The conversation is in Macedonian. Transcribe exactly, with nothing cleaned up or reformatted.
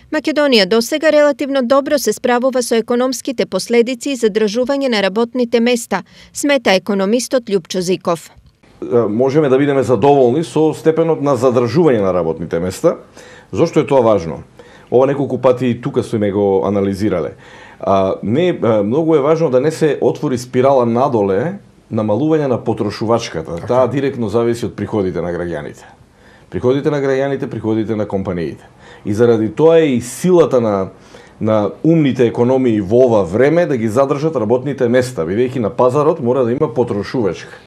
Македонија досега релативно добро се справува со економските последици и задржување на работните места, смета економистот Љупчо Зиков. Можеме да бидеме задоволни со степенот на задржување на работните места. Зошто е тоа важно? Ова неколку пати и тука сме го анализирале. А, не, многу е важно да не се отвори спирала надоле намалување на потрошувачката. Таа директно зависи од приходите на граѓаните. Приходите на граѓаните, приходите на компаниите. И заради тоа е и силата на на умните економии во ова време да ги задржат работните места, бидејќи на пазарот мора да има потрошувачка.